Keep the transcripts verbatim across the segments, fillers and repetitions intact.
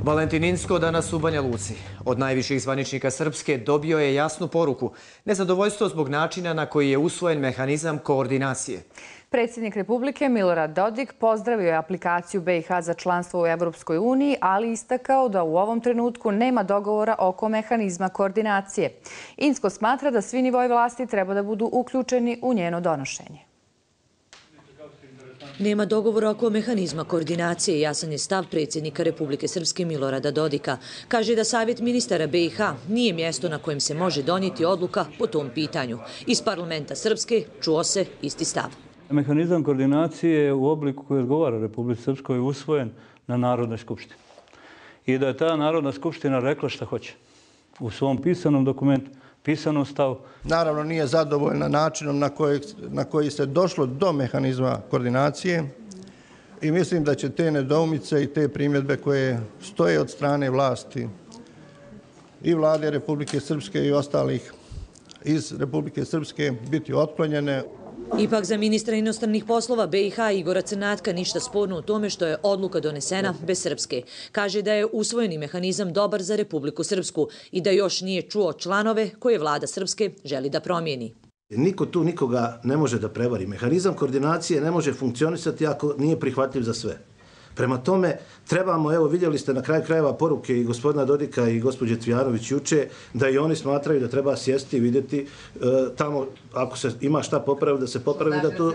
Valentin Incko danas u Banja Luci. Od najviših zvaničnika Srpske dobio je jasnu poruku. Nezadovoljstvo zbog načina na koji je usvojen mehanizam koordinacije. Predsjednik Republike Milorad Dodik pozdravio je aplikaciju B i H za članstvo u Evropskoj uniji, ali istakao da u ovom trenutku nema dogovora oko mehanizma koordinacije. Incko smatra da svi nivoji vlasti treba da budu uključeni u njeno donošenje. Nema dogovora oko mehanizma koordinacije, jasan je stav predsjednika Republike Srpske Milorada Dodika. Kaže da Savjet ministara B i H nije mjesto na kojem se može donijeti odluka po tom pitanju. Iz parlamenta Srpske čuo se isti stav. Mehanizam koordinacije u obliku koji odgovara Republici Srpskoj je usvojen na Narodnoj skupštini. I da je ta Narodna skupština rekla šta hoće u svom pisanom dokumentu, pisanom stavu. Naravno nije zadovoljna načinom na koji, na koji se došlo do mehanizma koordinacije i mislim da će te nedoumice i te primjedbe koje stoje od strane vlasti i vlade Republike Srpske i ostalih iz Republike Srpske biti otklonjene. Ipak za ministra inostranih poslova B i H Igora Crnatka ništa sporno u tome što je odluka donesena bez Srpske. Kaže da je usvojeni mehanizam dobar za Republiku Srpsku i da još nije čuo članove koje vlada Srpske želi da promijeni. Niko tu nikoga ne može da prevari. Mehanizam koordinacije ne može funkcionisati ako nije prihvatljiv za sve. Prema tome, trebamo, evo vidjeli ste na kraju krajeva poruke i gospodina Dodika i gospođe Cvijanović juče, da i oni smatraju da treba sjesti i vidjeti e, tamo, ako se ima šta popraviti, da se popravi, da to...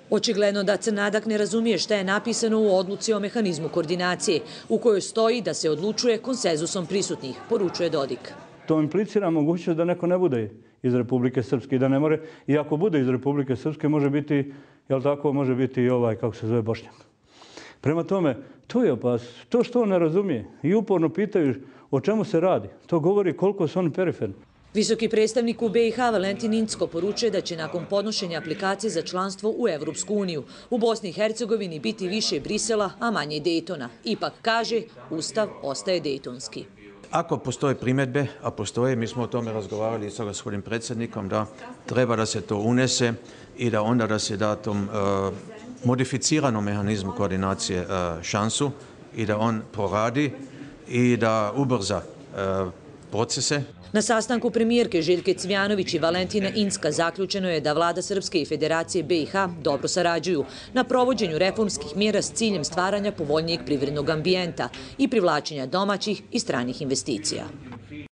Očigledno da Crnadak ne razumije šta je napisano u odluci o mehanizmu koordinacije, u kojoj stoji da se odlučuje konsenzusom prisutnih, poručuje Dodik. To implicira mogućnost da neko ne bude iz Republike Srpske i da ne more, i ako bude iz Republike Srpske, može biti, jel tako, može biti i ovaj, kako se zove, Bošnjak. Prema tome, to je opasnost. To što on ne razumije i uporno pitaju o čemu se radi, to govori koliko su oni periferni. Visoki predstavnik u B i H Valentin Incko poručuje da će nakon podnošenja aplikacije za članstvo u Evropsku uniju u Bosni i Hercegovini biti više Brisela, a manje Dejtona. Ipak kaže, Ustav ostaje dejtonski. Ako postoje primjedbe, a postoje, mi smo o tome razgovarali sa gospodinom predsjednikom, da treba da se to unese i da onda da se da tom uh, modificiranom mehanizmu koordinacije uh, šansu i da on poradi i da ubrza uh, procese. Na sastanku premijerke Željke Cvijanović i Valentina Incka zaključeno je da vlada Srpske i Federacije B i H dobro sarađuju na provođenju reformskih mjera s ciljem stvaranja povoljnijeg privrednog ambijenta i privlačenja domaćih i stranih investicija.